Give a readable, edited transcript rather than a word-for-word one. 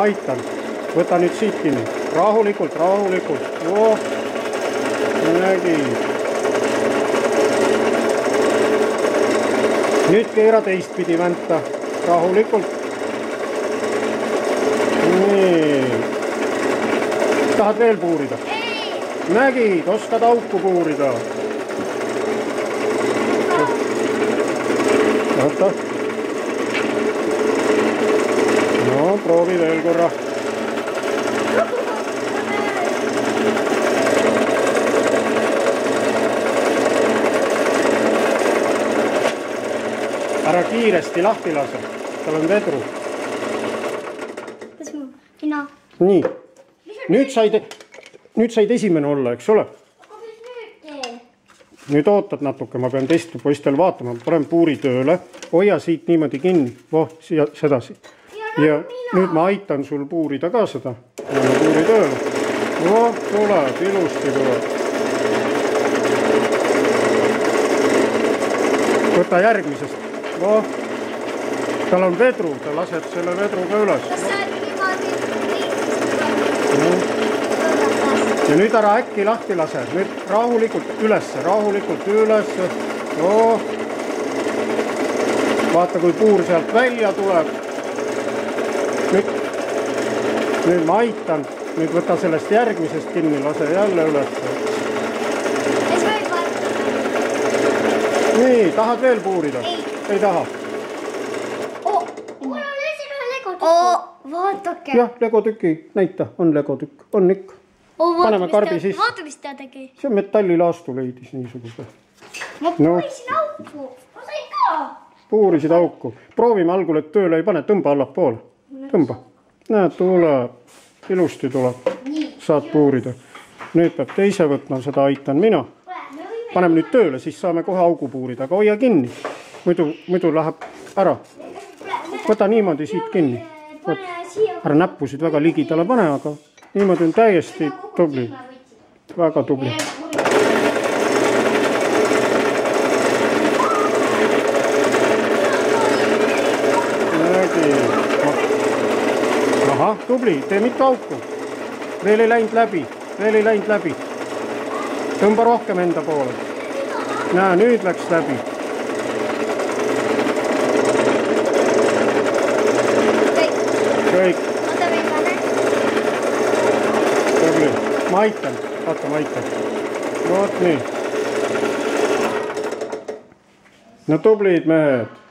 ma aitan. Võta nüüd siit kinni. Rahulikult, rahulikult. Oh, nägi. Nüüd keera teistpidi vänta. Rahulikult. Nii. Tahad veel puurida? Nägid, oskad auku puurida. Oota. No, proovi veel korra. Ära kiiresti lahti lase. Tal on vedru. Nii. Nüüd said esimene olla, eks ole? Nüüd ootad natuke, ma pean teist poistel vaatama. Panen puuri tööle. Hoia siit niimoodi kinni. Voh, sedasi. Ja nüüd ma aitan sul puurida ka seda. Panen puuri tööle. Voh, tuleb, ilusti tuleb. Võta järgmisest. Voh, tal on vedru. Ta laseb selle vedru ka üles. Ja nüüd ära äkki lahti lase. Nüüd rahulikult ülesse, rahulikult ülesse. Oh. Vaata, kui puur sealt välja tuleb. Nüüd ma aitan. Nüüd võta sellest järgmisest kinni, lase jälle ülesse. Nii, tahad veel puurida? Ei taha. Vaatake. Jah, legotüki. Näita, on legotükk. On ikka. Paneme karbi sisse. Vaata, mis ta tegi. See on metallilaastu leidis niisuguse. Ma puurisin auku. Ma sain ka. Puurisid auku. Proovime algul, et tööle ei pane. Tõmba allapoole. Tõmba. Näed, tuleb. Ilusti tuleb. Saad puurida. Nüüd peab teise võtma, seda aitan mina. Paneme nüüd tööle, siis saame kohe augu puurida. Aga hoia kinni. Muidu läheb ära. Võta niimoodi siit kinni. Ära näppusid väga ligidale pane, aga niimoodi on täiesti tubli. Väga tubli. Aha, tubli. Tee mitu auku. Veel ei läinud läbi. Veel ei läinud läbi. Tõmba rohkem enda poole. Näe, nüüd läks läbi. Kõik. Tubli. Ma aitan. Vaata, ma aitan. Vot nii. No tublid mehed.